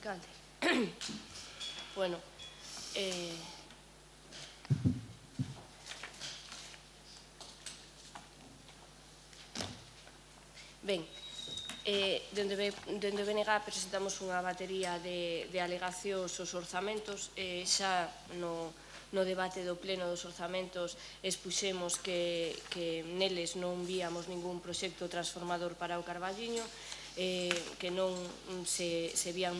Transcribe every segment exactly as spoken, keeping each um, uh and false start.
alcalde. Bueno, eh... ben, eh, dende o B N G presentamos unha batería de, de alegacións aos orzamentos, eh, xa no, no debate do pleno dos orzamentos expuxemos que, que neles non víamos ningún proxecto transformador para o Carballiño, eh, que non se, se vían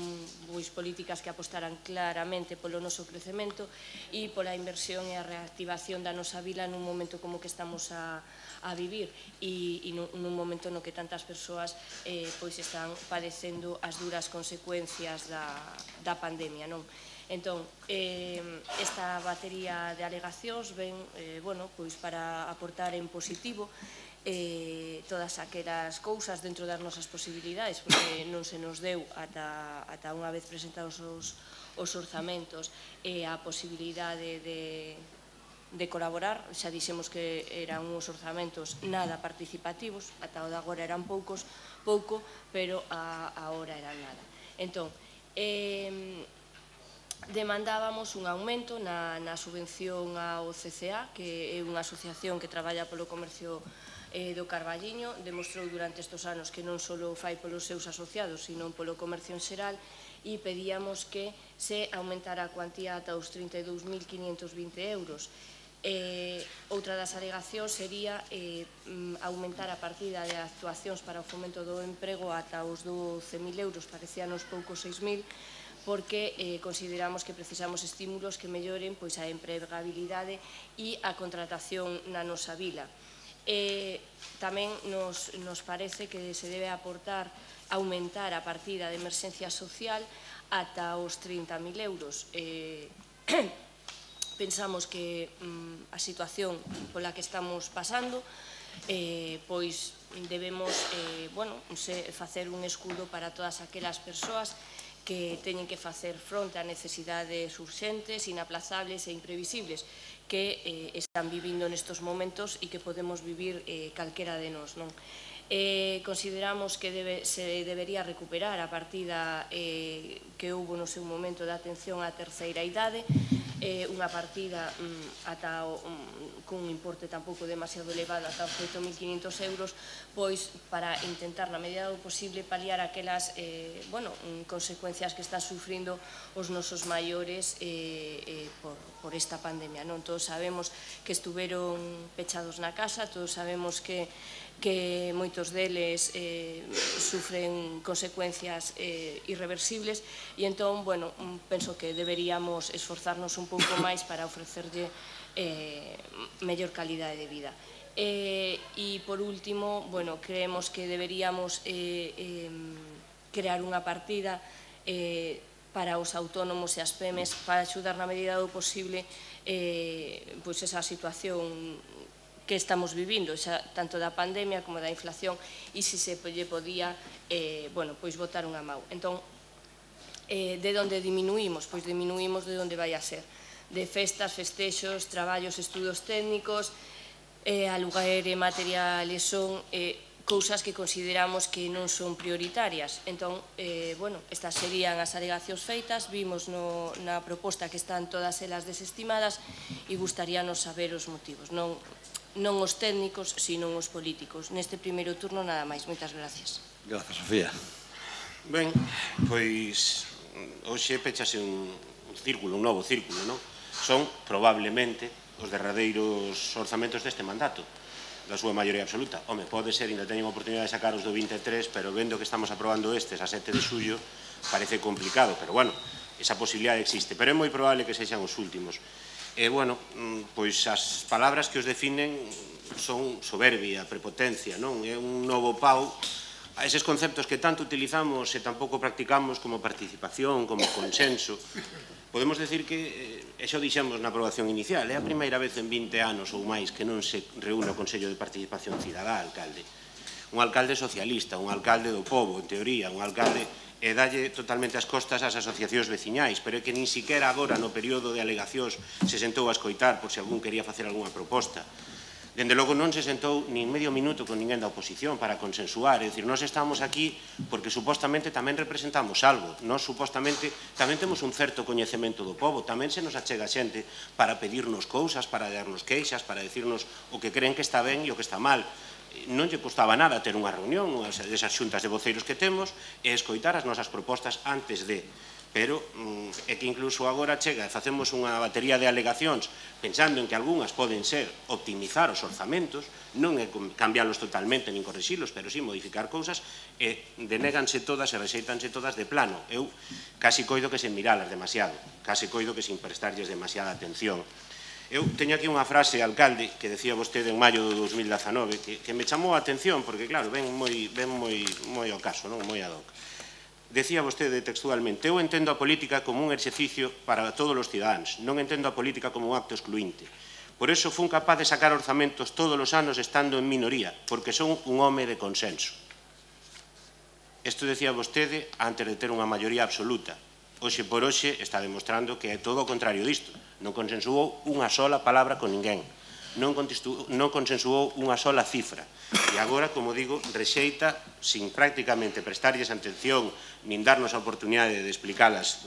pois, políticas que apostaran claramente polo noso crecemento e pola inversión e a reactivación da nosa vila nun momento como que estamos a, a vivir e, e nun, nun momento no que tantas persoas eh, pois están padecendo as duras consecuencias da, da pandemia, non? Entón, eh, esta batería de alegacións ven, eh, bueno, pois para aportar en positivo eh, todas aquelas cousas dentro das nosas posibilidades, porque non se nos deu ata, ata unha vez presentados os, os orzamentos e eh, a posibilidade de, de colaborar. Xa dixemos que eran uns orzamentos nada participativos, ata o de agora eran poucos, pouco, pero a, a hora eran nada. Entón, eh, demandábamos un aumento na, na subvención ao C C A, que é unha asociación que traballa polo comercio eh, do Carballiño. Demostrou durante estes anos que non só fai polos seus asociados, sino polo comercio en xeral, e pedíamos que se aumentara a cuantía ata os trinta e dous mil quinhentos vinte euros. Eh, outra das alegacións sería eh, aumentar a partida de actuacións para o fomento do emprego ata os doce mil euros, parecían os poucos seis mil, porque eh, consideramos que precisamos estímulos que melloren pois, a empregabilidade e a contratación na nosa vila. Eh, tamén nos, nos parece que se debe aportar, aumentar a partida de emerxencia social ata os trinta mil euros. Eh, pensamos que mm, a situación pola que estamos pasando, eh, pois debemos eh, bueno, se, facer un escudo para todas aquelas persoas que teñen que facer fronte a necesidades urxentes, inaplazables e imprevisibles que eh, están vivindo nestes momentos e que podemos vivir eh, calquera de nós, non? Eh, consideramos que debe, se debería recuperar a partida eh, que houve no seu momento de atención á terceira idade, eh, unha partida mm, ata o, mm, cun importe tampouco demasiado elevado, ata os oito mil quinhentos euros, pois para intentar na medida do posible paliar aquelas eh, bueno, mm, consecuencias que están sufrindo os nosos maiores eh, eh, por, por esta pandemia, non? Todos sabemos que estuveron pechados na casa, todos sabemos que que moitos deles eh, sufren consecuencias eh, irreversibles e entón, bueno, penso que deberíamos esforzarnos un pouco máis para ofrecerlle eh, mellor calidade de vida. Eh, e, por último, bueno, creemos que deberíamos eh, eh, crear unha partida eh, para os autónomos e as pemes para axudar na medida do posible eh, pois esa situación que estamos vivindo, xa, tanto da pandemia como da inflación, e se se lle podía eh, bueno, pois botar unha mau. Entón, eh, de onde diminuímos? Pois diminuímos de onde vai a ser. De festas, festexos, traballos, estudos técnicos, eh, aluguer e materiales son eh, cousas que consideramos que non son prioritarias. Entón, eh, bueno, estas serían as alegacións feitas, vimos no, na proposta que están todas elas desestimadas e gustaríanos saber os motivos. Non, non os técnicos, sino os políticos. Neste primeiro turno, nada máis. Moitas gracias. Grazas, Sofía. Ben, pois, hoxe pechase un círculo, un novo círculo, non? Son, probablemente, os derradeiros orzamentos deste mandato, da súa maioría absoluta. Home, pode ser, ainda teñen oportunidade de sacar os do vinte e tres, pero vendo que estamos aprobando estes a sete de xullo, parece complicado, pero, bueno, esa posibilidade existe. Pero é moi probable que sexan os últimos. E, bueno, pois as palabras que os definen son soberbia, prepotencia, non? É un novo pau a eses conceptos que tanto utilizamos e tampouco practicamos como participación, como consenso. Podemos decir que, e xa o dixemos na aprobación inicial, é a primeira vez en vinte anos ou máis que non se reúne o Consello de Participación Cidadá, alcalde. Un alcalde socialista, un alcalde do pobo, en teoría, un alcalde e dalle totalmente as costas ás asociacións veciñais, pero é que nin siquiera agora no período de alegacións se sentou a escoitar por se algún quería facer algunha proposta. Dende logo non se sentou nin medio minuto con ninguén da oposición para consensuar, é dicir, nós estamos aquí porque supostamente tamén representamos algo, nós supostamente tamén temos un certo coñecemento do povo, tamén se nos achega xente para pedirnos cousas, para darnos queixas, para decirnos o que creen que está ben e o que está mal. Non lle costaba nada ter unha reunión, unhas desas xuntas de voceiros que temos, e escoitar as nosas propostas antes de... pero é que incluso agora chega e facemos unha batería de alegacións pensando en que algunhas poden ser optimizar os orzamentos, non é cambiálos totalmente nin correxilos, pero sí modificar cousas, e denéganse todas e rexeitanse todas de plano. Eu casi coido que sen miralas demasiado, casi coido que sin prestarlles demasiada atención. Eu teño aquí unha frase, alcalde, que decía vostede en maio do dos mil dezanove, que, que me chamou a atención, porque claro, ven moi, ven moi, moi ao caso, non? Moi ad hoc. Decía vostede textualmente, eu entendo a política como un exercicio para todos os cidadáns, non entendo a política como un acto excluinte. Por eso fun capaz de sacar orzamentos todos os anos estando en minoría, porque son un home de consenso. Isto decía vostede antes de ter unha maioría absoluta. Hoxe por hoxe está demostrando que é todo o contrario disto. Non consensuou unha sola palabra con ninguén. Non consensuou unha sola cifra. E agora, como digo, rexeita, sin prácticamente prestarlles atención, nin darnos a oportunidade de explicalas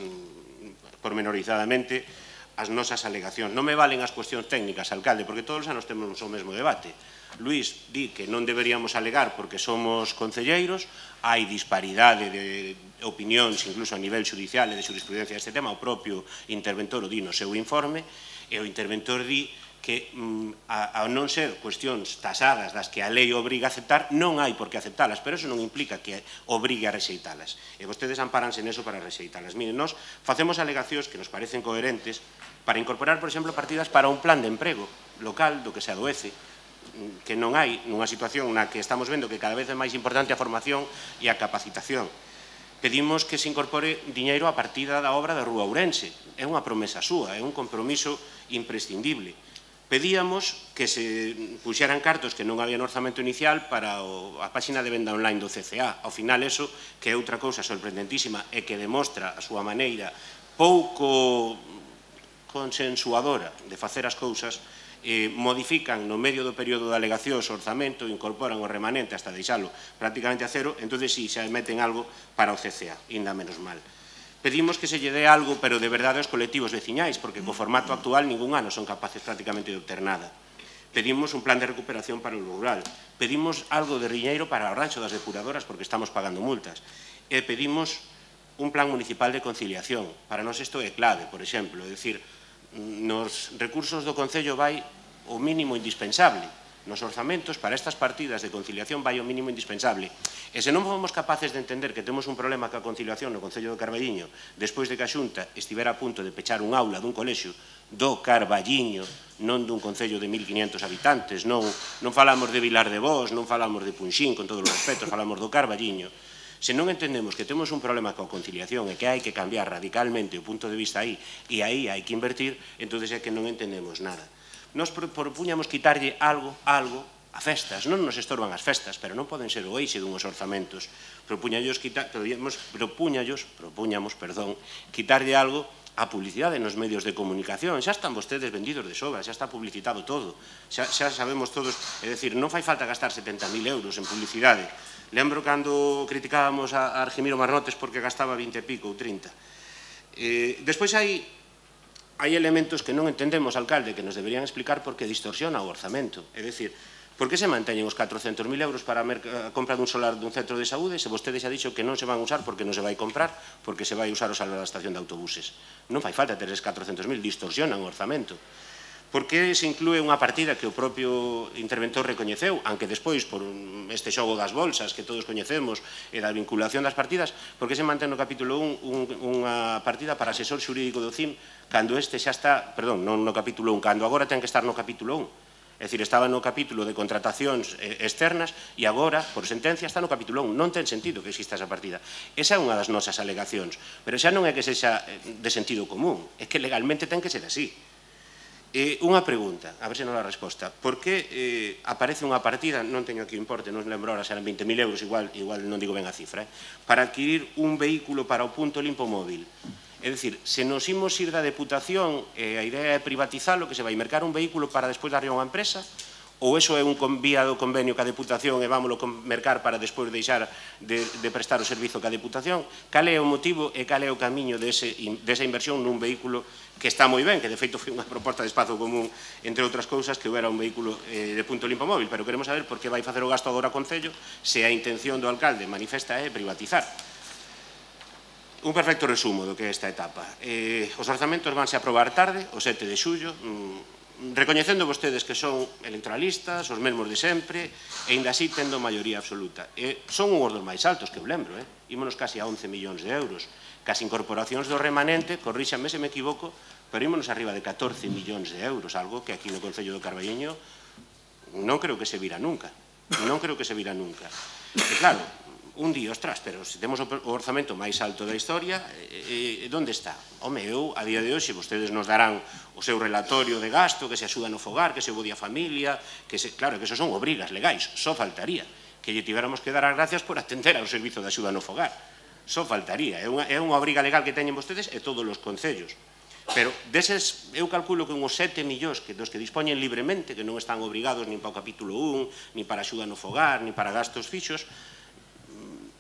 pormenorizadamente, as nosas alegacións. Non me valen as cuestións técnicas, alcalde, porque todos os anos temos o mesmo debate. Luís di que non deberíamos alegar porque somos concelleiros, hai disparidade de opinións, incluso a nivel judicial e de jurisprudencia deste tema, o propio interventor o di no seu informe, e o interventor di que ao non ser cuestións tasadas das que a lei obriga a aceptar, non hai por que aceptalas, pero eso non implica que obrigue a rexeitalas. E vostedes amparanse neso para rexeitalas. Miren, nós facemos alegacións que nos parecen coherentes para incorporar, por exemplo, partidas para un plan de emprego local do que se adoece, que non hai nunha situación na que estamos vendo que cada vez é máis importante a formación e a capacitación. Pedimos que se incorpore diñeiro a partida da obra da Rúa Ourense. É unha promesa súa, é un compromiso imprescindible. Pedíamos que se puxeran cartos que non había no orzamento inicial para a páxina de venda online do C C A. Ao final, eso, que é outra cousa sorprendentísima e que demostra a súa maneira pouco consensuadora de facer as cousas, modifican no medio do período de alegacións o orzamento, incorporan o remanente hasta deixalo prácticamente a cero, entón si xa meten algo para o C C A, ainda menos mal. Pedimos que se lle dé algo, pero de verdade aos colectivos veciñais, porque co formato actual ningún ano son capaces prácticamente de obter nada. Pedimos un plan de recuperación para o rural. Pedimos algo de riñeiro para o rancho das depuradoras, porque estamos pagando multas. E pedimos un plan municipal de conciliación. Para nós isto é clave, por exemplo. É dicir, nos recursos do Concello vai o mínimo indispensable. Nos orzamentos, para estas partidas de conciliación, vai o mínimo indispensable. E se non fomos capaces de entender que temos un problema ca conciliación no Concello do Carballiño, despois de que a Xunta estivera a punto de pechar un aula dun colexio do Carballiño, non dun concello de mil quinientos habitantes, non, non falamos de Vilar de Vos, non falamos de Punxín, con todos os respetos, falamos do Carballiño. Se non entendemos que temos un problema coa conciliación e que hai que cambiar radicalmente o punto de vista aí, e aí hai que invertir, entón é que non entendemos nada. Nos propuñamos quitarlle algo, algo, a festas. Non nos estorban as festas, pero non poden ser o eixe dunhos orzamentos. Propuñallos, propuñallos, propuñamos, perdón, quitarlle algo a publicidade nos medios de comunicación. Xa están vostedes vendidos de sobra, xa está publicitado todo. Xa, xa sabemos todos, é dicir, non fai falta gastar setenta mil euros en publicidade. Lembro cando criticábamos a Argimiro Marnotes porque gastaba vinte e pico ou trinta. Eh, despois hai... Hai elementos que non entendemos, alcalde, que nos deberían explicar por que distorsiona o orzamento. É dicir, por que se manteñen os catrocentos mil euros para a compra dun solar dun centro de saúde se vostede xa dixo que non se van usar porque non se vai comprar, porque se vai usar o salar da estación de autobuses? Non fai falta ter eses catrocentos mil, distorsionan o orzamento. Por que se inclúe unha partida que o propio interventor recoñeceu, aunque despois, por este xogo das bolsas que todos coñecemos e da vinculación das partidas, por que se mantén no capítulo un unha partida para asesor xurídico do C I M cando este xa está, perdón, non no capítulo un, cando agora ten que estar no capítulo un. É dicir, estaba no capítulo de contratacións externas e agora, por sentencia, está no capítulo un. Non ten sentido que exista esa partida. Esa é unha das nosas alegacións, pero xa non é que sexa de sentido común, é que legalmente ten que ser así. Eh, unha pregunta, a ver se non a resposta. Por que eh, aparece unha partida, non teño aquí o importe, non lembro ahora, serán vinte mil euros, igual, igual non digo ben a cifra, eh, para adquirir un vehículo para o punto limpo móvil? É dicir, se nos imos ir da deputación, eh, a idea é privatizalo, que se vai mercar un vehículo para despois darlle a unha empresa, ou eso é un vía do convenio ca Deputación e vámoslo mercar para despois deixar de, de prestar o servizo ca Deputación? Cal é o motivo e cal é o camiño dese, desa inversión nun vehículo que está moi ben, que de feito foi unha proposta de espazo común, entre outras cousas, que era un vehículo eh, de punto limpo móvil, pero queremos saber por que vai facer o gasto agora o Concello se a intención do alcalde manifesta é privatizar. Un perfecto resumo do que é esta etapa. Eh, os orzamentos vanse aprobar tarde, o sete de xullo, mmm, recoñecendo vostedes que son electoralistas, os mesmos de sempre, e ainda así tendo maioría absoluta. E son unhos dos máis altos, que eu lembro, eh? Ímonos casi a once millóns de euros. Cas incorporacións do remanente, corríxanme se me equivoco, pero ímonos arriba de catorce millóns de euros, algo que aquí no Concello do Carballiño non creo que se vira nunca. Non creo que se vira nunca. E claro, un día, ostras, pero se temos o orzamento máis alto da historia, e, e, onde está? Home, eu, a día de hoxe, vostedes nos darán o seu relatorio de gasto, que se axuda no fogar, que se bo día familia, que se, claro, que eso son obrigas legais, só faltaría que lle tivéramos que dar as gracias por atender ao servizo de axuda no fogar. Só faltaría, é unha, é unha obriga legal que teñen vostedes e todos os concellos. Pero deses, eu calculo que unhos sete millóns que dos que dispoñen libremente, que non están obrigados nin para o capítulo un, nin para axuda no fogar, nin para gastos fixos,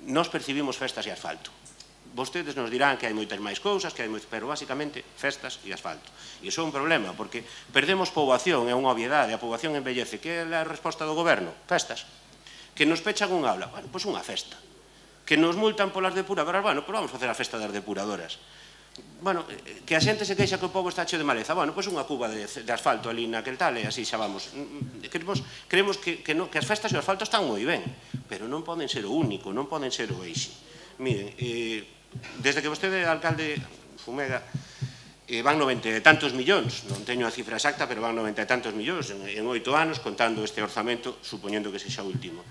nos percibimos festas e asfalto. Vostedes nos dirán que hai moitas máis cousas, que hai moitas, pero basicamente festas e asfalto. E iso é un problema, porque perdemos poboación, é unha obviedade, a poboación envellece. Que é a resposta do goberno? Festas. Que nos pechan un aula, bueno, pois unha festa. Que nos multan polas depuradoras, bueno, pois vamos facer a festa das depuradoras. Bueno, que a xente se queixa que o pobo está cheo de maleza, bueno, pois unha cuba de, de asfalto ali naquel tal e así xa vamos. Creemos, creemos que, que, no, que as festas e o asfalto están moi ben, pero non poden ser o único, non poden ser o eixe. Miren, eh, desde que vostede é alcalde Fumega, eh, van noventa e tantos millóns, non teño a cifra exacta, pero van noventa e tantos millóns en, en oito anos, contando este orzamento, supoñendo que sexa o último.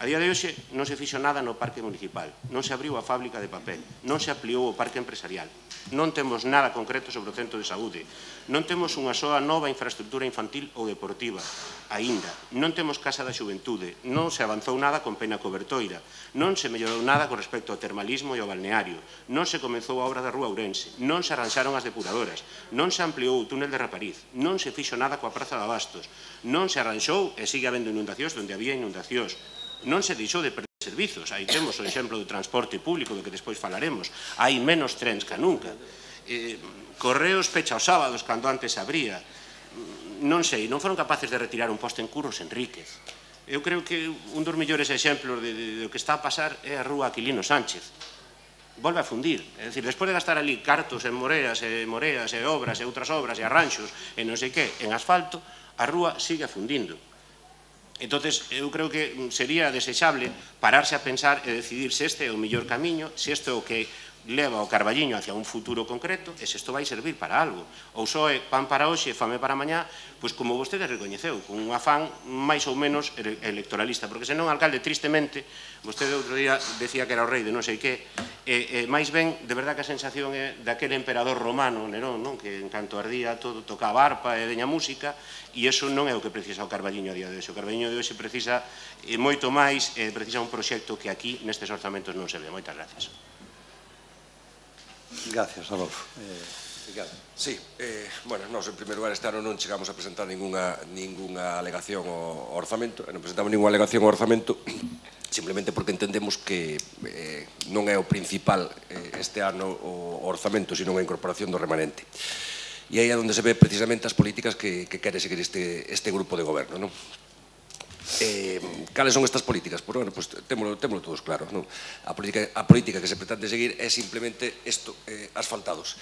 A día de hoxe non se fixo nada no parque municipal, non se abriu a fábrica de papel, non se ampliou o parque empresarial, non temos nada concreto sobre o centro de saúde, non temos unha soa nova infraestructura infantil ou deportiva, aínda, non temos casa da xuventude, non se avanzou nada con Pena Cobertoira, non se mellorou nada con respecto ao termalismo e ao balneario, non se comezou a obra da Rúa Ourense, non se arranxaron as depuradoras, non se ampliou o túnel de Rapariz, non se fixo nada coa Praza de Abastos, non se arranxou e sigue habendo inundacións onde había inundacións, non se deixou de perder servizos. Aí temos o exemplo do transporte público, do que despois falaremos. Hai menos trens que nunca. Eh, Correos pecha os sábados, cando antes abría. Non sei, non foron capaces de retirar un poste en Curros Enríquez. Eu creo que un dos mellores exemplos de, de, de, do que está a pasar é a rúa Aquilino Sánchez. Volve a fundir. É dicir, despois de gastar ali cartos en moreas e moreas e obras e outras obras e arranxos e non sei que, en asfalto, a rúa sigue fundindo. Entonces, eu creo que sería desexable pararse a pensar e decidir se este é o mellor camiño, se este é o que leva o Carballiño hacia un futuro concreto e se isto vai servir para algo. Ou só é pan para hoxe, fame para mañá, pois como vostede recoñeceu, con un afán máis ou menos electoralista, porque senón, alcalde, tristemente, vostede outro día decía que era o rei de non sei que, e, e máis ben, de verdad que a sensación é daquele emperador romano, Nerón, non? Que en canto ardía todo tocaba arpa e deña música, e iso non é o que precisa o Carballiño a día de hoxe. O Carballiño de hoxe precisa eh, moito máis, e precisa un proxecto que aquí nestes orzamentos non se ve. Moitas gracias. Gracias, Adolfo. Eh, Ricardo. Sí, eh, bueno, nós en primeiro lugar este ano non chegamos a presentar ninguna, ninguna alegación ao orzamento, non presentamos ninguna alegación ao orzamento simplemente porque entendemos que eh, non é o principal eh, este ano o orzamento, sino a incorporación do remanente. E aí é onde se ve precisamente as políticas que, que quere seguir este, este grupo de goberno, non? Eh, cales son estas políticas? Pois, bueno, pues, témolo, témolo todos claros, non? A política, a política que se pretende seguir é simplemente isto, eh, asfaltados.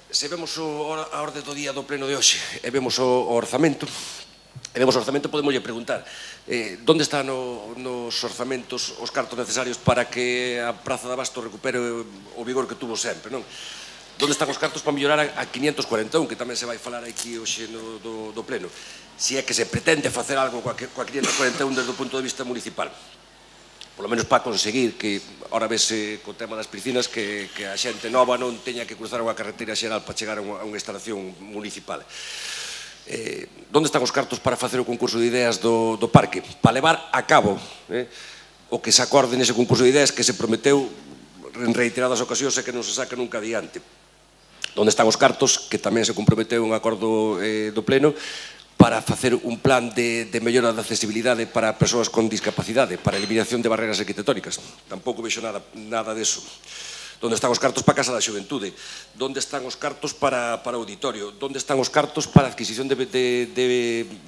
Se vemos o, a orde do día do pleno de hoxe e vemos o, o orzamento, e vemos o orzamento, podemos lle preguntar eh, onde están no, nos orzamentos os cartos necesarios para que a Praza de Abastos recupere o vigor que tuvo sempre, non? Onde están os cartos para mellorar a, a quinientos cuarenta e un, que tamén se vai falar aquí hoxe no, do, do pleno? Se é que se pretende facer algo coa, coa quinientos cuarenta e un desde o punto de vista municipal. Por lo menos para conseguir que, ahora vese co tema das piscinas, que, que a xente nova non teña que cruzar unha carretera xeral para chegar a unha, a unha instalación municipal. Eh, onde están os cartos para facer o concurso de ideas do, do parque? Para levar a cabo eh, o que se acorde nese concurso de ideas que se prometeu en reiteradas ocasións e que non se saca nunca adiante. Onde están os cartos, que tamén se comprometeu un acordo eh, do pleno, para facer un plan de, de mellora da accesibilidade para persoas con discapacidade, para a eliminación de barreras arquitectónicas. Tampouco vexo nada, nada deso. Onde están os cartos para a Casa da Xuventude? Onde están os cartos para, para o auditorio? Onde están os cartos para a adquisición de, de, de,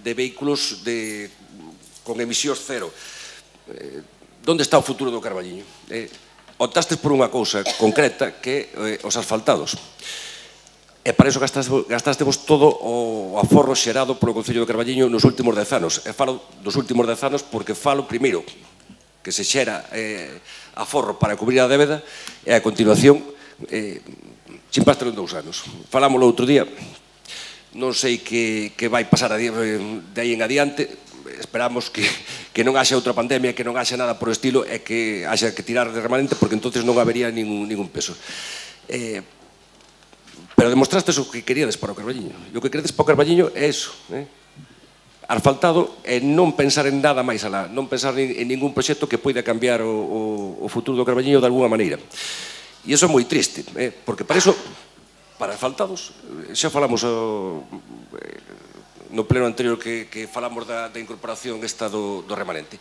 de vehículos de, con emisións cero? Eh, onde está o futuro do Carballiño? Eh, optastes por unha cousa concreta que eh, os asfaltados. E para iso gastástevos todo o aforro xerado polo Concello do Carballiño nos últimos dez anos. E falo dos últimos dez anos porque falo, primeiro, que se xera eh, aforro para cubrir a débeda e a continuación eh, chimpaste en dous anos. Falámoslo outro día, non sei que, que vai pasar de aí en adiante, esperamos que, que non haxa outra pandemia, que non haxa nada por o estilo e que haxa que tirar de remanente porque entonces non habería ningún, ningún peso. Eh, pero demostrastes o que queríades para o Carballiño. E o que queredes para o Carballiño é iso, eh? Asfaltado e non pensar en nada máis alá, non pensar en ningún proxecto que poida cambiar o, o, o futuro do Carballiño de alguna maneira. E iso é moi triste, eh? Porque para iso, para asfaltados, xa falamos o, no pleno anterior que, que falamos da, da incorporación esta do, do remanente.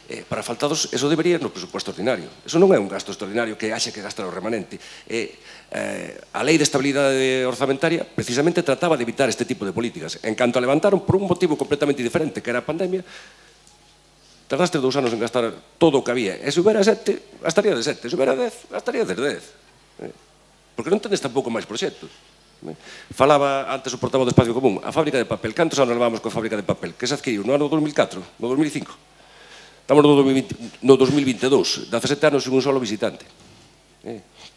Eh, para asfaltados, eso debería ir no presupuesto ordinario. Eso non é un gasto extraordinario que haxe que gastar o remanente. Eh, eh, a Lei de Estabilidade Orzamentaria precisamente trataba de evitar este tipo de políticas. En canto a levantaron por un motivo completamente diferente, que era a pandemia, tardaste dous anos en gastar todo o que había. E se houbera sete, gastaría de sete. Se houbera dez, gastaría de dez. Eh, porque non tenes tampouco máis proxectos. Falaba antes o portavoz do Espacio Común, a fábrica de papel. Cantos anos levamos coa fábrica de papel? Que se adquiriu no ano dos mil catro, no dos mil cinco? Estamos no dos mil vinte e dous, dezasete anos sin un solo visitante.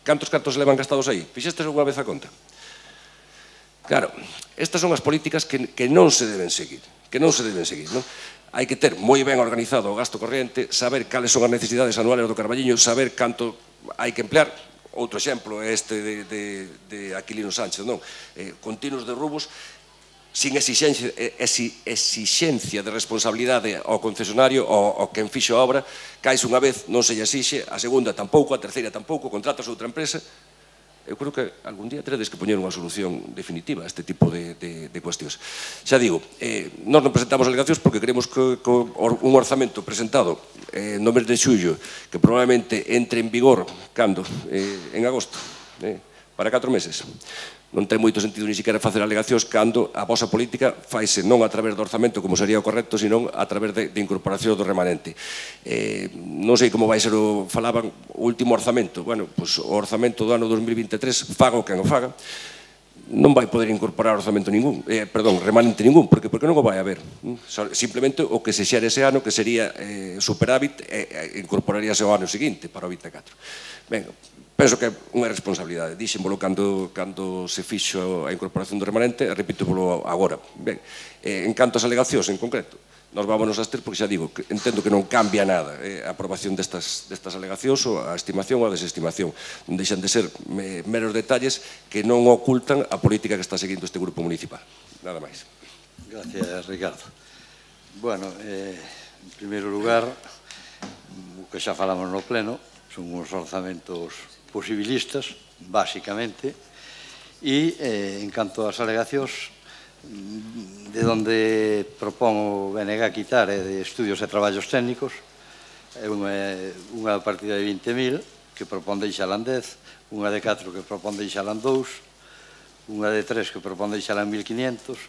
Cantos cartos levan gastados aí? Fixestes unha vez a conta? Claro, estas son as políticas que, que non se deben seguir, que non se deben seguir, non? Hai que ter moi ben organizado o gasto corriente, saber cales son as necesidades anuales do Carballiño, saber canto hai que emplear. Outro exemplo é este de, de, de Aquilino Sánchez, non? Eh, continuos de roubos, sin exixencia, exixencia de responsabilidade ao concesionario, ao, ao quen fixo a obra, caes unha vez, non se lle exixe, a segunda tampouco, a terceira tampouco, contratas outra empresa. Eu creo que algún día teredes que poñer unha solución definitiva a este tipo de, de, de cuestións. Xa digo, eh, nós non presentamos alegacións porque queremos que, que un orzamento presentado eh, no mes de xullo, que probablemente entre en vigor, cando? Eh, en agosto, eh, para catro meses. Non ten moito sentido ni siquiera facer alegacións cando a vosa política faise non a través do orzamento como sería o correcto, sino a través de, de incorporación do remanente. Eh, non sei como vai ser o, falaban, o último orzamento. Bueno, pois o orzamento do ano dos mil vinte e tres, faga o quen o faga, non vai poder incorporar orzamento ningún, eh, perdón, remanente ningún, porque, porque non o vai haber. Simplemente o que se xere ese ano, que sería eh, superávit, eh, incorporaríase ao ano seguinte, para o vinte e catro. Ben, penso que é unha responsabilidade. Dixémolo cando, cando se fixo a incorporación do remanente, e repítopolo agora. Ben, eh, en canto ás alegacións en concreto, nos vámonos a ter, porque xa digo, que entendo que non cambia nada eh, a aprobación destas, destas alegacións ou a estimación ou a desestimación. Non deixan de ser me, meros detalles que non ocultan a política que está seguindo este grupo municipal. Nada máis. Gracias, Ricardo. Bueno, eh, en primeiro lugar, o que xa falamos no pleno, son uns orzamentos posibilistas, básicamente, e eh, en canto ás alegacións, de onde propón o B N G quitar é de estudios e traballos técnicos, é unha, unha partida de vinte mil que propón deixala en dez, unha de catro que propón deixala en dous, unha de tres que propón deixala en mil quinientos.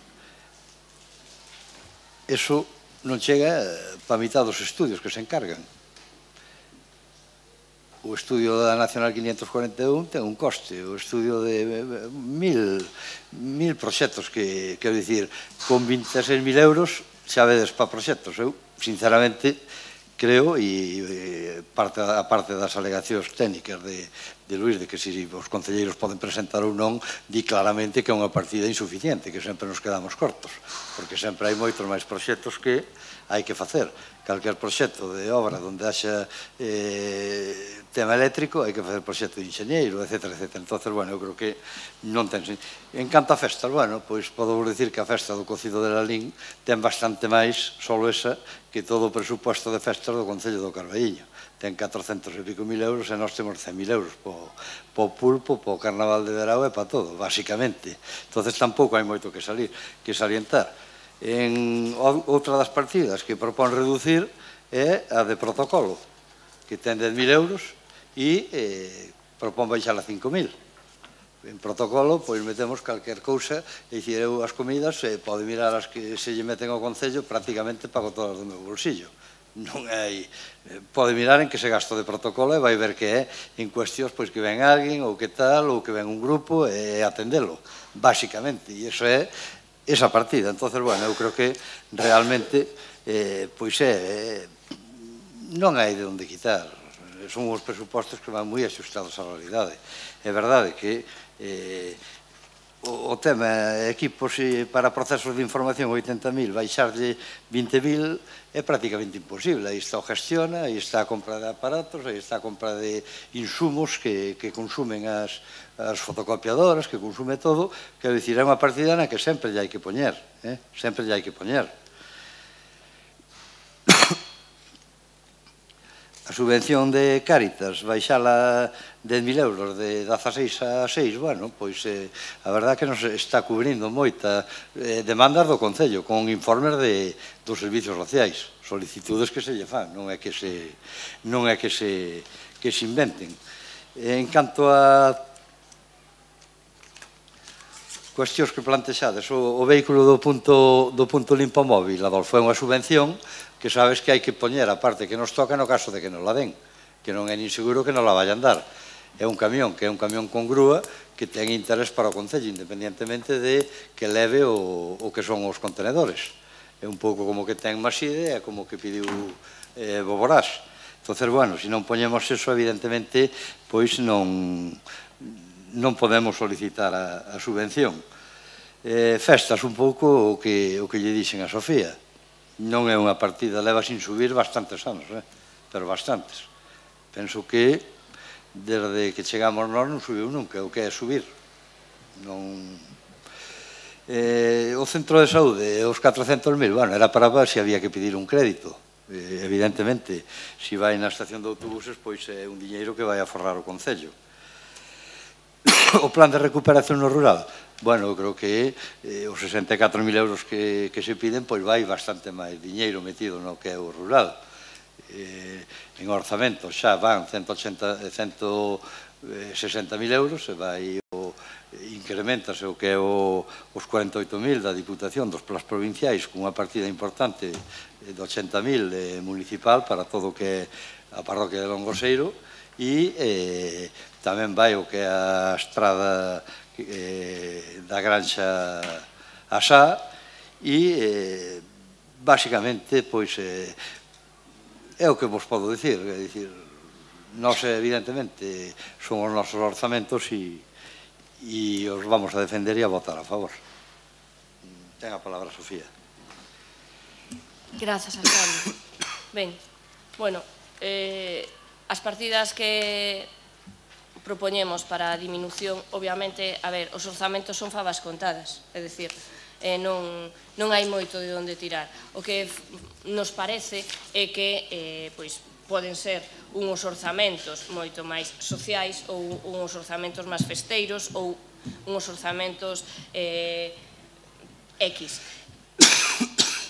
Eso non chega para a mitad dos estudios que se encargan. O estudio da Nacional quinientos cuarenta e un ten un coste, o estudio de mil, mil proxectos que, quero dicir, con vinte e seis mil euros xa vedes para proxectos. Eu, sinceramente, creo, e parte, a parte das alegacións técnicas de, de Luís, de que se os concelleiros poden presentar ou non, di claramente que é unha partida insuficiente, que sempre nos quedamos cortos, porque sempre hai moitos máis proxectos que hai que facer. Calquer proxecto de obra onde haxa eh, tema eléctrico, hai que facer proxecto de enxeñeiro, etcétera, etcétera. Entón, bueno, eu creo que non ten... En canto a festas, bueno, pois podo dicir que a festa do Cocido de Lalín ten bastante máis, solo esa, que todo o presuposto de festas do Concello do Carballiño. Ten catrocentos e pico mil euros e nós temos cen mil euros po, po pulpo, po Carnaval de Verao e para todo, basicamente. Entón, tampouco hai moito que salir, que salientar. Outra das partidas que propón reducir é a de protocolo, que ten dez mil euros e propón baixar a cinco mil. En protocolo, pois metemos calquer cousa, e dicir, eu as comidas, pode mirar as que se lle meten ao Concello, prácticamente pago todas do meu bolsillo. Non hai... Pode mirar en que se gasto de protocolo e vai ver que é en cuestións pois que ven alguén, ou que tal, ou que ven un grupo, e atendelo, basicamente. E iso é esa partida. Entón, bueno, eu creo que realmente, pois é... Non hai de onde quitar. Son os presupostos que van moi axustados á realidade. É verdade que o tema equipos para procesos de información oitenta mil, baixarlle vinte mil é prácticamente imposible. Aí está o gestiona, aí está a compra de aparatos, aí está a compra de insumos que consumen as fotocopiadoras, que consume todo. Quero dicir, é unha partida na que sempre lle hai que poñer, sempre lle hai que poñer. A subvención de Cáritas, baixala dez mil euros de dezaseis a seis, bueno, pois a verdade que nos está cubrindo moita demandas do Concello, con informes dos servicios sociais, solicitudes que se lle fan, non é que se non é que se que se inventen. En canto a cuestións que plantexades, o vehículo do punto limpo móvil, Adolfo, é unha subvención que sabes que hai que poñer a parte que nos toca no caso de que nos la den, que non é nin seguro que nos la vayan dar. É un camión, que é un camión con grúa que ten interés para o Concello, independientemente de que leve o que son os contenedores. É un pouco como que ten Maside, é como que pediu Boborás. Entón, bueno, se non poñemos eso, evidentemente, pois non non podemos solicitar a subvención. Festas, un pouco o que lle dixen a Sofía. Non é unha partida, leva sin subir bastantes anos, pero bastantes. Penso que desde que chegamos nós non subiu nunca, o que é subir. O centro de saúde, os catrocentos mil, bueno, era para ver se había que pedir un crédito. Evidentemente, se vai na estación de autobuses, pois é un diñeiro que vai a forrar o Concello. O plan de recuperación no rural, bueno, eu creo que os sesenta e catro mil euros que se piden, pois vai bastante máis diñeiro metido no que é o rural. En orzamento xa van cento sesenta mil euros, e vai incrementase o que é os cuarenta e oito mil da Diputación dos plans provinciais, cunha partida importante de ochenta mil municipal para todo o que é a parroquia de Longoseiro, e tamén vai o que é a estrada da Granxa a Sá, e basicamente pois é o que vos podo dicir. É dicir, nós evidentemente son os nosos orzamentos e os vamos a defender e a votar a favor. Ten a palabra Sofía. Grazas, alcalde. Ben, bueno, as partidas que propoñemos para a diminución, obviamente, a ver, os orzamentos son favas contadas, é dicir, non hai moito de onde tirar. O que nos parece é que poden ser uns orzamentos moito máis sociais ou uns orzamentos máis festeiros ou uns orzamentos X.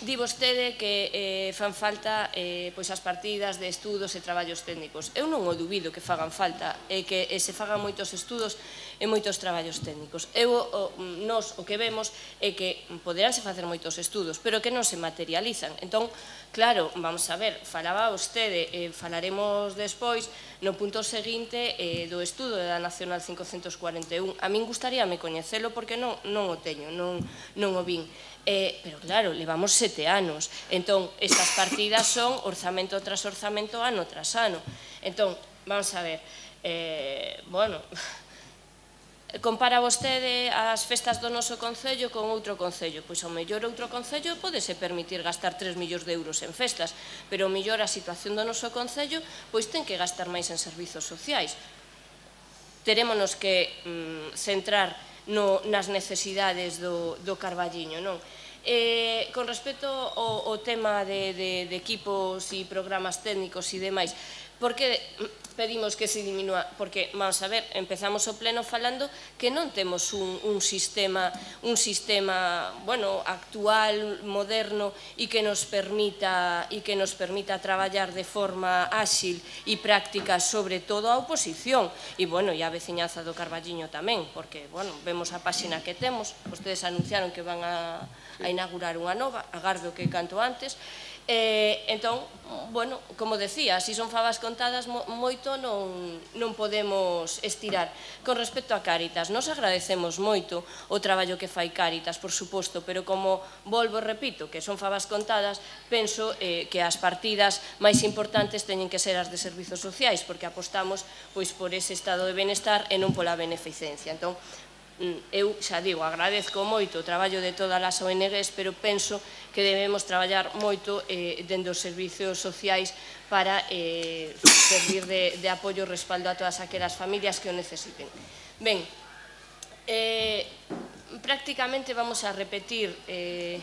Di vostede que fan falta as partidas de estudos e traballos técnicos. Eu non o dubido que fagan falta e que se fagan moitos estudos e moitos traballos técnicos. Nos o que vemos é que poderánse facer moitos estudos, pero que non se materializan. Entón, claro, vamos a ver, falaba vostede, falaremos despois no punto seguinte do estudo da Nacional cincocentos cuarenta e un. A min gustaríame coñecelo porque non o teño, non o vin. Pero claro, levamos sete anos. Entón, estas partidas son orzamento tras orzamento, ano tras ano. Entón, vamos a ver, bueno, compara vostede as festas do noso Concello con outro Concello. Pois ao mellor outro Concello podese permitir gastar tres millóns de euros en festas, pero ao mellor a situación do noso Concello pois ten que gastar máis en servizos sociais. Terémonos que centrar nas necesidades do Carballiño, non? Con respecto ao tema de equipos e programas técnicos e demais, Por que pedimos que se diminúa? Porque, vamos a ver, empezamos o pleno falando que non temos un, un sistema, un sistema, bueno, actual, moderno, e que nos permita, e que nos permita traballar de forma áxil e práctica, sobre todo a oposición, e, bueno, e a veciñanza do Carballiño tamén, porque, bueno, vemos a páxina que temos, vostedes anunciaron que van a, a inaugurar unha nova, agardo que canto antes. Eh, entón, bueno, como decía, se son favas contadas moito non, non podemos estirar. Con respecto a Cáritas, nos agradecemos moito o traballo que fai Cáritas, por suposto, pero como volvo e repito que son favas contadas, penso eh, que as partidas máis importantes teñen que ser as de servizos sociais, porque apostamos pois por ese estado de benestar e non pola beneficencia. Entón, eu xa digo, agradezco moito o traballo de todas as O N Ges, pero penso que debemos traballar moito eh, dentro dos servizos sociais para eh, servir de, de apoio e respaldo a todas aquelas familias que o necesiten. Ben, eh, prácticamente vamos a repetir eh,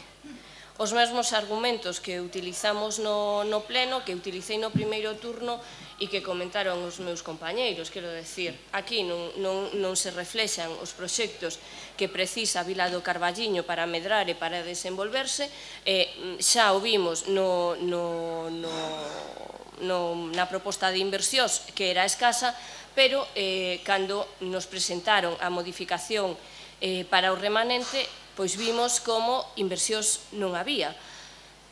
os mesmos argumentos que utilizamos no, no pleno, que utilicei no primeiro turno e que comentaron os meus compañeiros. Quero decir, aquí non, non, non se reflexan os proxectos que precisa Vila do Carballiño para medrar e para desenvolverse. Eh, xa o vimos no, no, no, no, na proposta de inversións, que era escasa, pero eh, cando nos presentaron a modificación eh, para o remanente, pois vimos como inversións non había.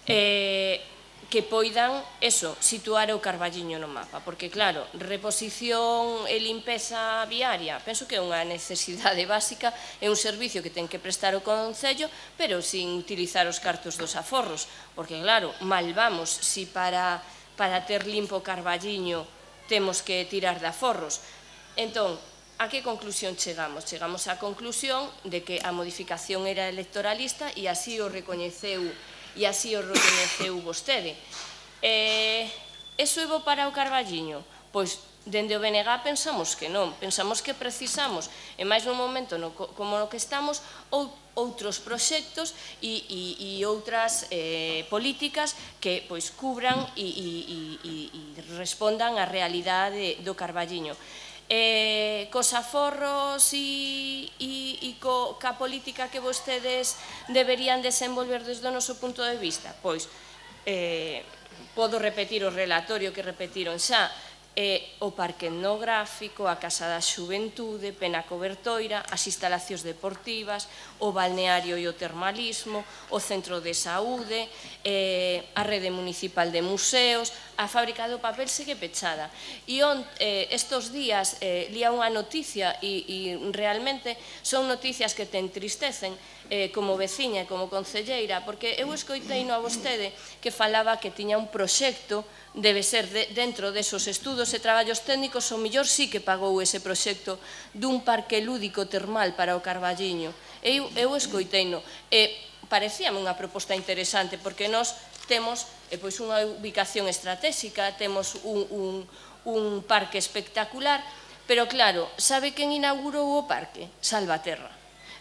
Eh, que poidan, eso, situar o Carballiño no mapa, porque claro, reposición e limpeza viaria, penso que é unha necesidade básica, é un servicio que ten que prestar o Concello, pero sin utilizar os cartos dos aforros, porque claro, mal vamos si para, para ter limpo o Carballiño temos que tirar de aforros. Entón, a que conclusión chegamos? Chegamos á conclusión de que a modificación era electoralista e así o recoñeceu e así o recoñeceu vostede. Eh, eso é bo para o Carballiño? Pois, dende o B N G pensamos que non, pensamos que precisamos, e máis nun momento no, como no que estamos, ou, outros proxectos e, e, e outras eh, políticas que pois cubran e, e, e, e respondan á realidade do Carballiño. Eh, cos aforros e, e, e co, ca política que vostedes deberían desenvolver desde o noso punto de vista? Pois, eh, podo repetir o relatorio que repetiron xa, eh, o parque etnográfico, a Casa da Xuventude, Pena Cobertoira, as instalacións deportivas, o balneario e o termalismo, o centro de saúde, eh, a rede municipal de museos, a fábrica do papel segue pechada. E on, eh, estos días eh, lía unha noticia e, e realmente son noticias que te entristecen eh, como veciña e como concelleira, porque eu escoitei no a vostede que falaba que tiña un proxecto, debe ser de, dentro desos estudos e traballos técnicos, o millor sí que pagou ese proxecto dun parque lúdico termal para o Carballiño. Eu, eu escoiteino. E parecíame unha proposta interesante, porque nós temos eh, pois unha ubicación estratégica, temos un, un, un parque espectacular, pero claro, sabe quen inaugurou o parque? Salvaterra.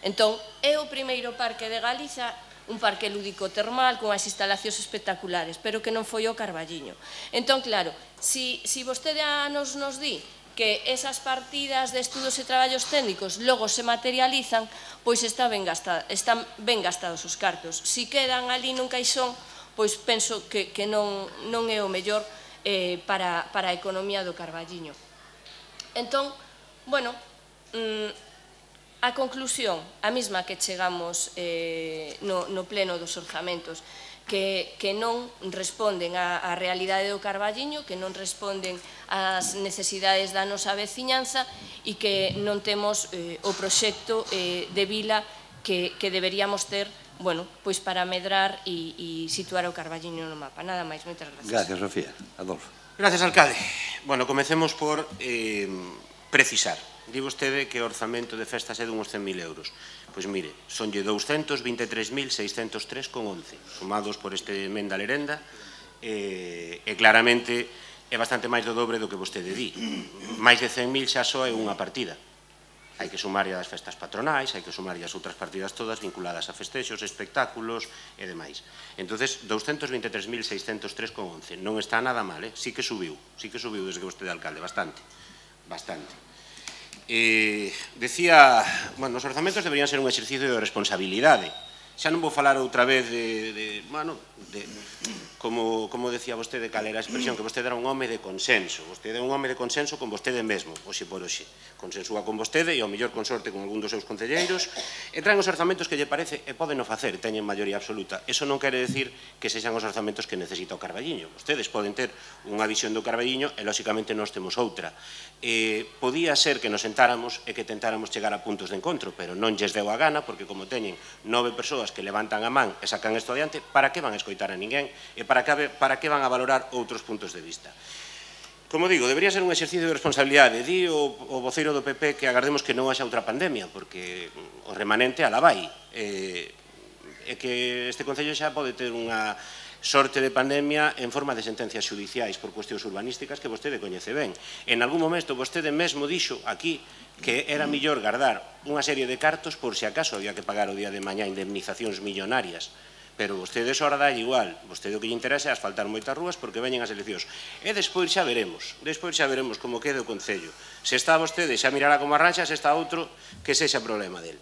Entón, é o primeiro parque de Galiza, un parque lúdico termal con as instalacións espectaculares, pero que non foi o Carballiño. Entón, claro, si, si vostede nos, nos di que esas partidas de estudos e traballos técnicos logo se materializan, pois está ben gastado, están ben gastados os cartos. Si quedan ali nun caixón, pois penso que, que non, non é o mellor eh, para, para a economía do Carballiño. Entón, bueno, mmm, a conclusión, a mesma que chegamos eh, no, no pleno dos orzamentos, que, que non responden á, á realidade do Carballiño, que non responden ás necesidades da nosa veciñanza e que non temos eh, o proxecto eh, de vila que, que deberíamos ter, bueno, pois para medrar e, e situar o Carballiño no mapa. Nada máis, moitas gracias. Gracias, Sofía. Adolfo. Gracias, alcalde. Bueno, comecemos por eh, precisar. Di vostede que o orzamento de festas é dunhos cen mil euros. Pois mire, sonlle douscentos vinte e tres mil seiscentos tres con once, sumados por este emenda lerenda, e, e claramente é bastante máis do dobre do que vostede di. Mais de cen mil xa só é unha partida. hai que sumar as festas patronais, hai que sumar as outras partidas todas vinculadas a festexos, espectáculos e demais. Entonces, douscentos vinte e tres mil seiscentos tres con once. Non está nada mal, eh? Sí que subiu, sí que subiu desde que vostede é alcalde, bastante, bastante. Eh, decía, bueno, os orzamentos deberían ser un exercicio de responsabilidade. Xa non vou falar outra vez de, de bueno, de, como, como decía vostede, cal era a expresión, que vostede era un home de consenso. Vostede é un home de consenso con vostede mesmo, hoxe por hoxe. Consensúa con vostede e ao mellor consorte con algún dos seus concelleiros, e traen os orzamentos que lle parece e poden o facer, teñen maioría absoluta. Eso non quere decir que sexan os orzamentos que necesita o Carballiño. Vostedes poden ter unha visión do Carballiño e, lóxicamente, nós temos outra. Eh, podía ser que nos sentáramos e que tentáramos chegar a puntos de encontro, pero non lles deu a gana, porque como teñen nove persoas que levantan a man e sacan isto adiante, para que van a escoitar a ninguén e para que, para que van a valorar outros puntos de vista. Como digo, debería ser un exercicio de responsabilidade. Di o, o voceiro do P P que agardemos que non haxa outra pandemia, porque o remanente ala vai. E, e que este Concello xa pode ter unha sorte de pandemia en forma de sentencias judiciais por cuestións urbanísticas que vostede coñece ben. En algún momento vostede mesmo dixo aquí que era millor guardar unha serie de cartos por se acaso había que pagar o día de mañá indemnizacións millonarias. Pero vostede ora dá igual, vostede o que lle interesa é asfaltar moitas rúas porque veñen as eleccións. E despois xa veremos, despois xa veremos como quede o Concello. Se está vostede xa mirará como arranxa, se está outro, que sexa problema del.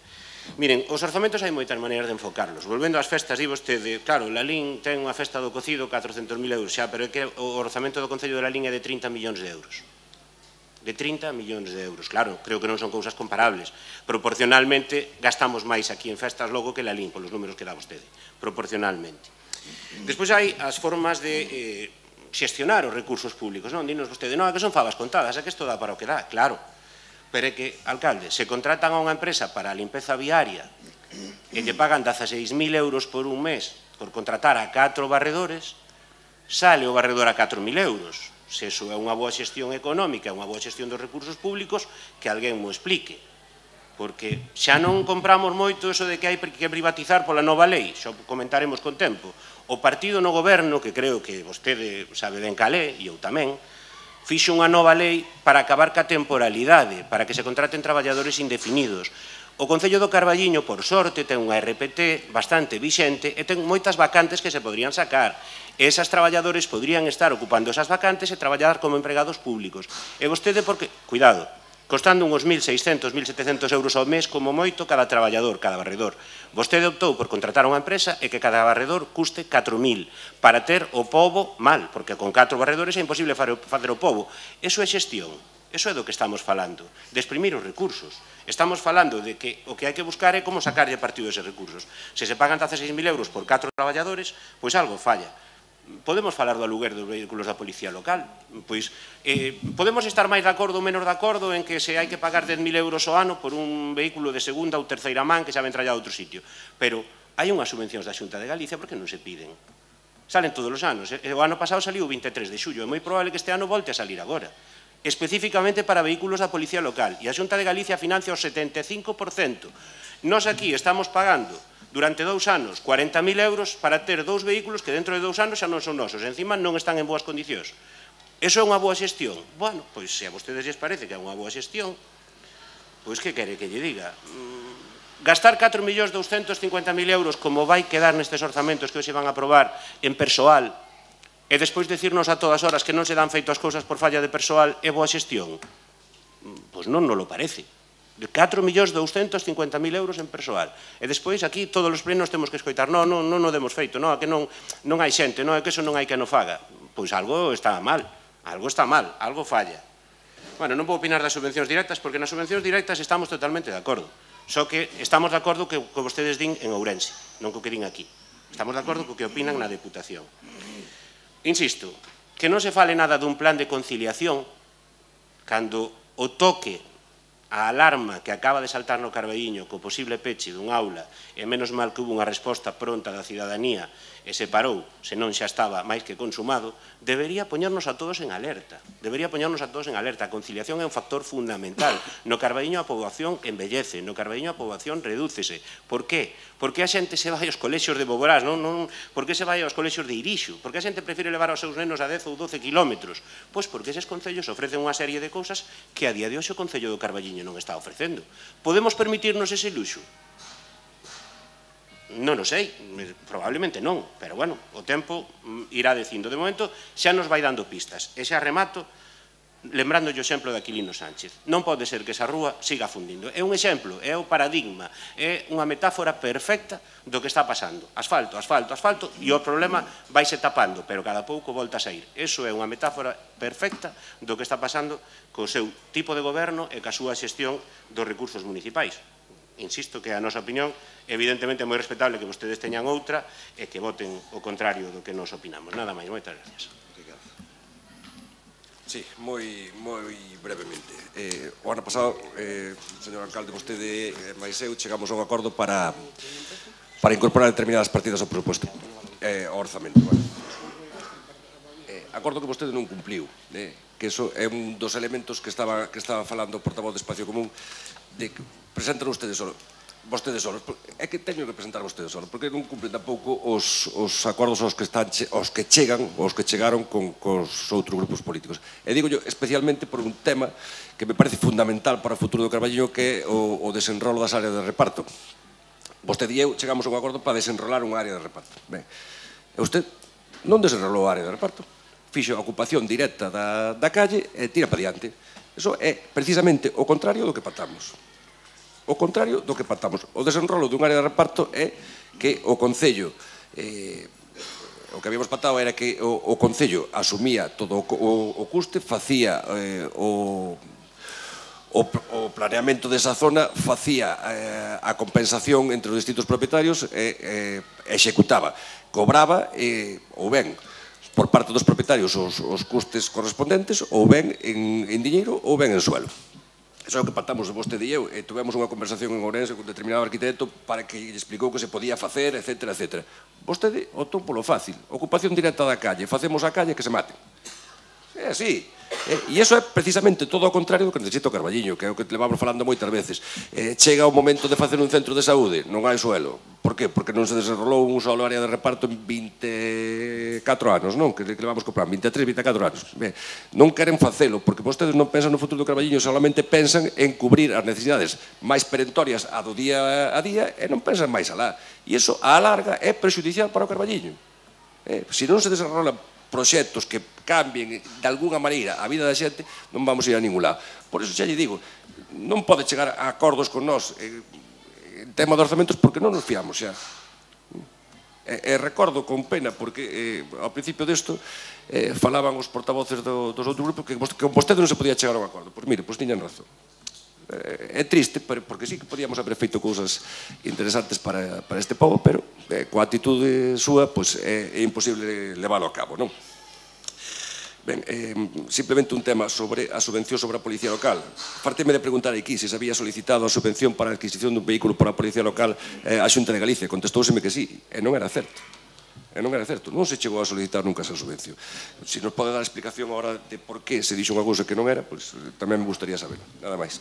Miren, os orzamentos hai moitas maneiras de enfocarlos. Volvendo ás festas, di vostede, claro, Lalín ten unha festa do cocido catrocentos mil euros xa, pero é que o orzamento do Concello de Lalín é de trinta millóns de euros. De trinta millóns de euros. Claro, creo que non son cousas comparables. Proporcionalmente, gastamos máis aquí en festas logo que Lalín, polos números que dá vostede. Proporcionalmente. Despois hai as formas de eh, xestionar os recursos públicos. Non, dinos vostede, non, que son favas contadas, é que isto dá para o que dá. Claro. Pero é que, alcalde, se contratan a unha empresa para a limpeza viaria e lle pagan dezaseis mil euros por un mes por contratar a catro barredores, sale o barredor a catro mil euros. Se iso é unha boa xestión económica, unha boa xestión dos recursos públicos, que alguén mo explique. Porque xa non compramos moito eso de que hai que privatizar pola nova lei, xa comentaremos con tempo. O partido no goberno, que creo que vostede sabe ben cal é, e eu tamén, fixo unha nova lei para acabar ca temporalidade, para que se contraten traballadores indefinidos. O Concello do Carballiño, por sorte, ten unha R P T bastante vixente e ten moitas vacantes que se podrían sacar. E esas traballadores podrían estar ocupando esas vacantes e traballar como empregados públicos. E vostede, porque, cuidado, costando uns mil seiscentos, mil setecentos euros ao mes como moito cada traballador, cada barredor. Vostede optou por contratar unha empresa e que cada barredor custe catro mil para ter o pobo mal, porque con catro barredores é imposible facer o pobo. Eso é xestión. Eso é do que estamos falando, de exprimir os recursos. Estamos falando de que o que hai que buscar é como sacarlle partido a eses recursos. Se se pagan dezaseis mil euros por catro traballadores, pois algo falla. Podemos falar do aluguer dos vehículos da Policía Local. Pois, eh, podemos estar máis de acordo ou menos de acordo en que se hai que pagar dez mil euros ao ano por un vehículo de segunda ou terceira man que xa ven trallado a outro sitio. Pero hai unhas subvencións da Xunta de Galicia, por que non se piden? Salen todos os anos. O ano pasado saliu o vinte e tres de xullo. É moi probable que este ano volte a salir agora. Específicamente para vehículos da Policía Local. E a Xunta de Galicia financia o setenta e cinco por cento. Nós aquí estamos pagando durante dous anos cuarenta mil euros para ter dous vehículos que dentro de dous anos xa non son nosos, encima non están en boas condicións. Eso é unha boa xestión? Bueno, pois se a vostedes lles parece que é unha boa xestión, pois que quere que lle diga? Gastar catro millóns douscentos cincuenta mil euros como vai quedar nestes orzamentos que hoxe van a aprobar en persoal e despois dicirnos a todas horas que non se dan feito as cousas por falla de persoal é boa xestión? Pois non nos lo parece. De catro millóns douscentos cincuenta mil euros en persoal. E despois aquí todos os plenos temos que escoitar non, non, non o demos feito, non, que non, non hai xente, non, é que eso non hai que no faga. Pois algo está mal, algo está mal, algo falla. Bueno, non vou opinar das subvencións directas porque nas subvencións directas estamos totalmente de acordo. Só que estamos de acordo que, que vostedes din en Ourense, non co que din aquí. Estamos de acordo co que opinan na Deputación. Insisto, que non se fale nada dun plan de conciliación cando o toque a alarma que acaba de saltar no Carballiño co posible peche dun aula e menos mal que hubo unha resposta pronta da cidadanía e se parou, senón xa estaba máis que consumado, debería poñernos a todos en alerta. Debería poñernos a todos en alerta. A conciliación é un factor fundamental. No Carballiño a poboación embellece, no Carballiño a poboación redúcese. Por qué? Porque a xente se vai aos colexios de Boborás, non? non por que se vai aos colexios de Irixo? Por que a xente prefire levar aos seus nenos a dez ou doce kilómetros? Pois porque eses concellos ofrecen unha serie de cousas que a día de hoxe o Concello do Carballiño Carballiño non está ofrecendo. Podemos permitirnos ese luxo? Non o sei, probablemente non, pero bueno, o tempo irá dicindo. De momento xa nos vai dando pistas. E xa remato lembrando o exemplo de Aquilino Sánchez. Non pode ser que esa rúa siga fundindo. É un exemplo, é o paradigma, é unha metáfora perfecta do que está pasando. Asfalto, asfalto, asfalto, e o problema vaise tapando, pero cada pouco volta a sair. Eso é unha metáfora perfecta do que está pasando co seu tipo de goberno e ca súa xestión dos recursos municipais. Insisto que a nosa opinión evidentemente é moi respetable que vostedes teñan outra e que voten o contrario do que nos opinamos. Nada máis, moitas gracias. Sí, moi, moi brevemente. Eh, o ano pasado, eh, señor alcalde, vostede e máis eu chegamos a un acordo para para incorporar determinadas partidas ao presupuesto, eh, ao orzamento. Bueno. Eh, acordo que vostede non cumpliu, eh, que eso é un dos elementos que estaba, que estaba falando o portavoz de Espacio Común, de que presentan ustedes solo, vostedes solos, é que teño que presentar vostedes solos, porque non cumplen tampouco os, os acordos aos que, están, aos que chegan, aos que chegaron con, con os outros grupos políticos. E digo yo especialmente por un tema que me parece fundamental para o futuro do Carballiño, que é o, o desenrolo das áreas de reparto. Vostede e eu chegamos a un acordo para desenrolar unha área de reparto. Ben, e usted non desenrolou a área de reparto, fixo a ocupación directa da, da calle e tira para diante. Eso é precisamente o contrario do que pactamos. O contrario do que pactamos. O desenrolo dun área de reparto é que o Concello, eh, o que habíamos pactado era que o, o Concello asumía todo o, o, o custe, facía eh, o, o, o planeamento desa zona, facía eh, a compensación entre os distintos propietarios e eh, executaba, cobraba eh, ou ben por parte dos propietarios os, os custes correspondentes, ou ben en, en diñeiro ou ben en suelo. Eso é o que pactamos vostede e eu, e tuvemos unha conversación en Ourense con un determinado arquitecto para que lle explicou que se podía facer, etcétera, etcétera. Vostede optou polo fácil, ocupación directa da calle, facemos a calle que se maten. É así. E iso é precisamente todo o contrario do que necesita o Carballiño, que é o que levamos falando moitas veces. Eh, chega o momento de facer un centro de saúde, non hai suelo. Por que? Porque non se desenrolou un solo área de reparto en vinte e catro anos, non? Que levamos comprando, vinte e tres, vinte e catro anos. Ben, non queren facelo, porque vostedes non pensan no futuro do Carballiño, solamente pensan en cubrir as necesidades máis perentorias a do día a día e non pensan máis alá. E iso, a larga, é prexudicial para o Carballiño. Eh, se non se desenrolan proxectos que cambien de alguna maneira a vida da xente, non vamos ir a ningún lado. Por iso xa lle digo, non pode chegar a acordos con nós en tema de orzamentos porque non nos fiamos xa. E, e recordo con pena, porque eh, ao principio desto eh, falaban os portavoces do, dos outros grupos que con vostede non se podía chegar a un acordo. Pois mire, pois tiñan razón. É triste, porque sí que podíamos haber feito cousas interesantes para, para este povo, pero eh, coa atitude súa pues, é, é imposible leválo a cabo, non? Ben, eh, simplemente un tema sobre a subvención sobre a Policía Local. Parteme de preguntar aquí se se había solicitado a subvención para a adquisición dun vehículo para a Policía Local eh, a Xunta de Galicia. Contestóuseme que sí, e non era certo. E non era certo, non se chegou a solicitar nunca esa subvención. Se nos pode dar explicación agora de por que se dixo unha cousa que non era, pois tamén me gustaría saber. Nada máis.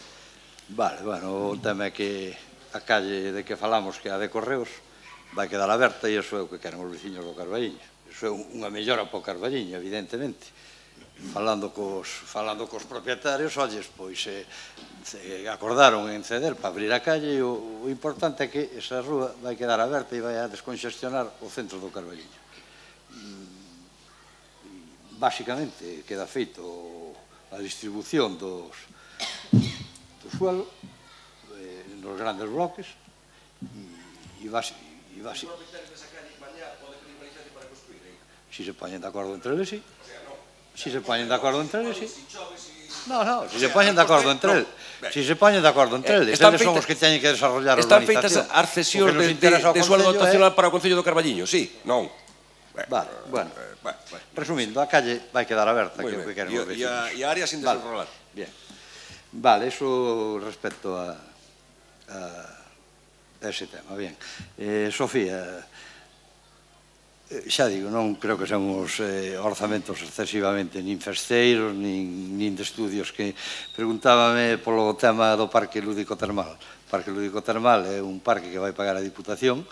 Vale, bueno, o tema é que a calle de que falamos, que é a de Correos, vai quedar aberta e iso é o que queren os veciños do Carballiño. Iso é unha mellora para o Carballiño, evidentemente. Falando cos, falando cos propietarios, olles, pois eh, se acordaron en ceder para abrir a calle e o, o importante é que esa rúa vai quedar aberta e vai a desconxestionar o centro do Carballiño. Básicamente queda feito a distribución dos do suelo eh, nos grandes bloques e básicamente si se poñen de acordo entre eles, si si se poñen de acordo entre eles, si no, no, si se poñen de acordo entre eles si se poñen de acordo entre eles eles son os que teñen que desarrollar a urbanización. Están feitas as cesións de suelo dotacional para o Concello do Carballiño, si, non? Vale, bueno, resumindo, a calle vai quedar aberta, que é o que queren os vecinos. E a área sin desenrolar. Bien. Vale, eso respecto a, a ese tema. Bien. Eh, Sofía, xa digo, non creo que sean os eh, orzamentos excesivamente nin festeiros, nin, nin de estudios que preguntábame polo tema do Parque Lúdico Termal. O Parque Lúdico Termal é un parque que vai pagar a Diputación,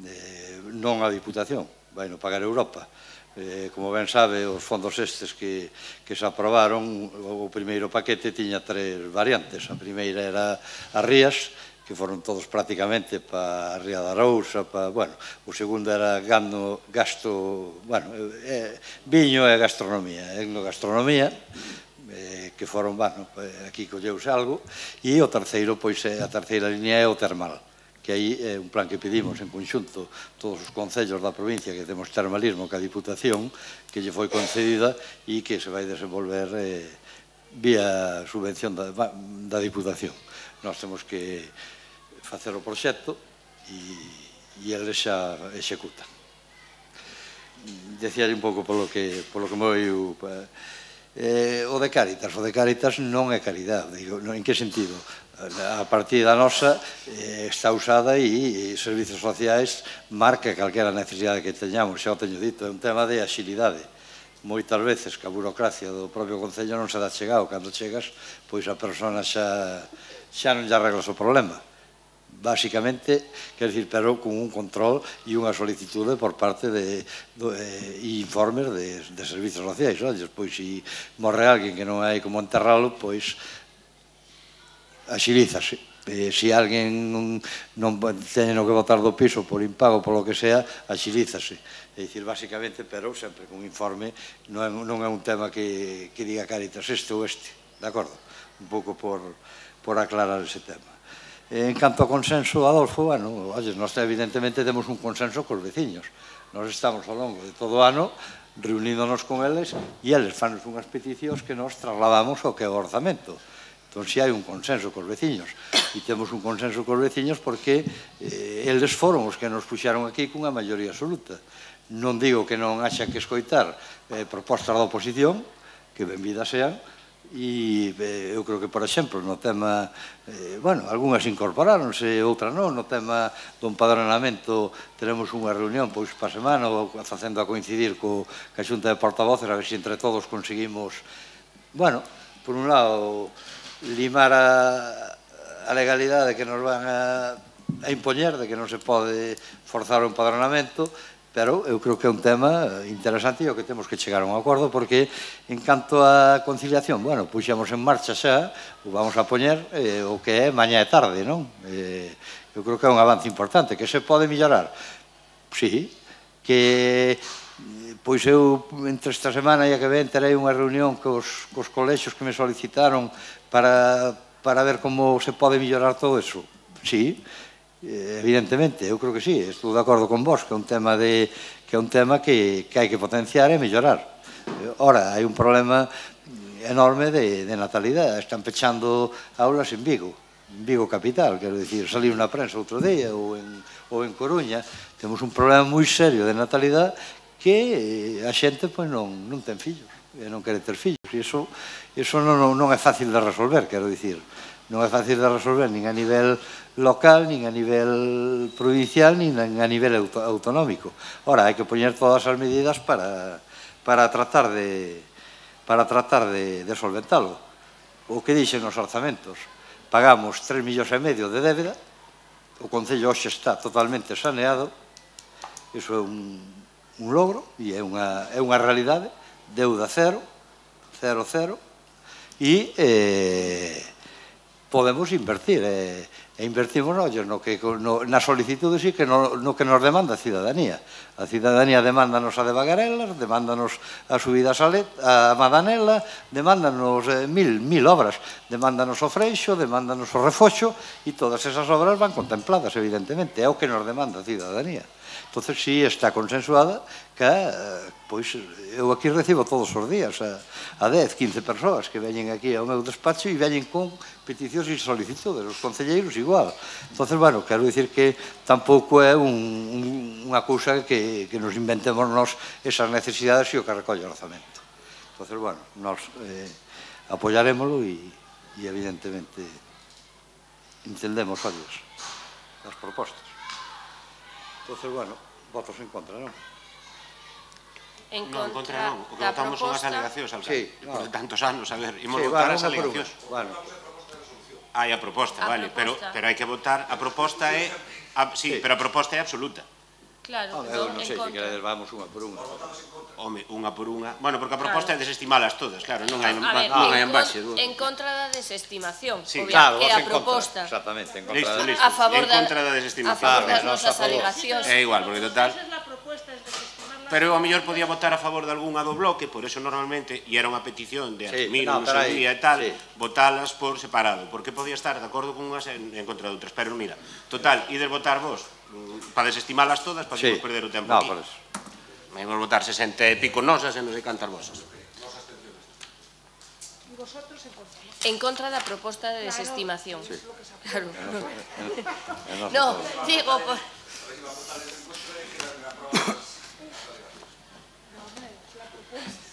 eh, non a Diputación, vai non pagar a Europa. Como ben sabe, os fondos estes que se aprobaron, o primeiro paquete tiña tres variantes. A primeira era as rías, que foron todos prácticamente para a Ría da Arousa, bueno, o segundo era gasto, bueno, viño e gastronomía, etnogastronomía, que foron, bueno, aquí colleuse algo, e o terceiro, pois, a terceira línea é o termal, que aí é un plan que pedimos en conxunto todos os concellos da provincia que temos termalismo ca Diputación, que lle foi concedida e que se vai desenvolver vía subvención da Diputación. Nós temos que facer o proxecto e eles xa executan. Decía un pouco polo que me oiu o de Cáritas. O de Cáritas non é caridade. En que sentido? A partida nosa está usada e servizos sociais marca calquera necesidade que teñamos, xa o teño dito, é un tema de axilidade. Moitas veces que a burocracia do propio Concello non se dá chegado. Cando chegas, pois a persona xa non lle arreglas o problema. Básicamente, quer dicir, pero con un control e unha solicitude por parte de informes de servizos sociais. Pois, se morre alguén que non hai como enterralo, pois axilízase. Se alguén non teñen que botar do piso por impago, por lo que sea, axilízase. É dicir, básicamente, pero sempre con informe, non é un tema que diga Cáritas este ou este, de acordo? Un pouco por aclarar ese tema. En canto ao consenso, Adolfo, bueno, nós evidentemente temos un consenso cos veciños. Nós estamos ao longo de todo o ano reuníndonos con eles e eles fanos unhas peticións que nós trasladamos ao que é o orzamento. Entón, si hai un consenso cos veciños. E temos un consenso cos veciños porque eles foron os que nos puxaron aquí cunha maioría absoluta. Non digo que non haxa que escoitar propostas da oposición, que benvidas sean, e eu creo que, por exemplo, no tema, bueno, algunhas incorporáronse, outras non, no tema do empadronamento teremos unha reunión pois para a semana, facendo a coincidir co a Xunta de Portavoces, a ver se entre todos conseguimos, bueno, por un lado, limar a legalidade que nos van a impoñer, de que non se pode forzar o empadronamento, pero eu creo que é un tema interesante e o que temos que chegar a un acordo, porque en canto á conciliación, bueno, puxemos en marcha xa, o vamos a poñer o que é mañá e tarde, non? Eu creo que é un avance importante, que se pode mellorar. Sí, que pois eu entre esta semana e a que ven terei unha reunión cos colexios que me solicitaron para ver como se pode mellorar todo eso. Sí, evidentemente, eu creo que sí, estou de acordo con vos, que é un tema que é un tema que hai que potenciar e mellorar. Ora, hai un problema enorme de natalidade, están pechando aulas en Vigo, en Vigo capital, quero dicir, saliu na prensa outro día, ou en Coruña, temos un problema moi serio de natalidade que a xente non ten fillos, e non quere ter fillos, e iso non é fácil de resolver, quero dicir, non é fácil de resolver nin a nivel local, nin a nivel provincial, nin a nivel autonómico. Ora, hai que poñer todas as medidas para tratar de para tratar de solventalo. O que dixen os orzamentos, pagamos tres millóns e medio de débeda, o Concello hoxe está totalmente saneado, iso é un logro e é unha realidade, deuda cero, cero, cero, e podemos invertir, e invertimos na solicitude sí que no que nos demanda a cidadanía. A cidadanía demándanos a de Bagarelas, demándanos a subidas a Madanela, demándanos mil obras, demándanos o Freixo, demándanos o Refoxo, e todas esas obras van contempladas, evidentemente, é o que nos demanda a cidadanía. Entón, si está consensuada que, pois, eu aquí recibo todos os días a dez, quince persoas que veñen aquí ao meu despacho e veñen con peticións e solicitudes, os concelleiros igual. Entón, bueno, quero dicir que tampouco é unha cousa que nos inventemos nós esas necesidades e o que recolle o orzamento. Entón, bueno, nos apoyarémoslo e, evidentemente, entendemos as propostas. Entón, bueno, votos en contra, non? En contra non, o que votamos son as alegacións, alcalde. Por tantos anos, a ver, imos votar as alegacións. Hai a proposta, vale, pero hai que votar, a proposta é, sí, pero a proposta é absoluta. Claro, Eu entón, non en sei, se contra. queredes vamos unha por unha. Home, unha por unha. Bueno, porque a proposta é desestimalas todas, claro, non hai A ver, non hai en, envaxe. con, en contra da desestimación, Sí, obvia, Claro, que vos a en contra. proposta Exactamente, en contra. Listo, de- listo. a favor En da, contra da a desestimación. favor das Claro, nós a nosas favor. alegacións. É igual, porque total... Esa es la propuesta, es desestimarla. Pero eu a mellor podía votar a favor de algunha do bloque, por eso normalmente, e era unha petición de Sí, asumir no, un pero seu aí, día e tal, sí. votalas por separado, porque podía estar de acordo con unhas en, en contra de outras. Pero mira, total, ides votar vos mm, para desestimalas todas, para Sí. que perder o tempo No, aquí. por eso. Vamos a votar sesenta e pico nosas e non sei cantas vosas. Y vosotros en contra. ¿No? En contra da proposta de desestimación. Es lo que se hace. Claro. E nós a No, favor. digo, por... No, hombre, es la propuesta.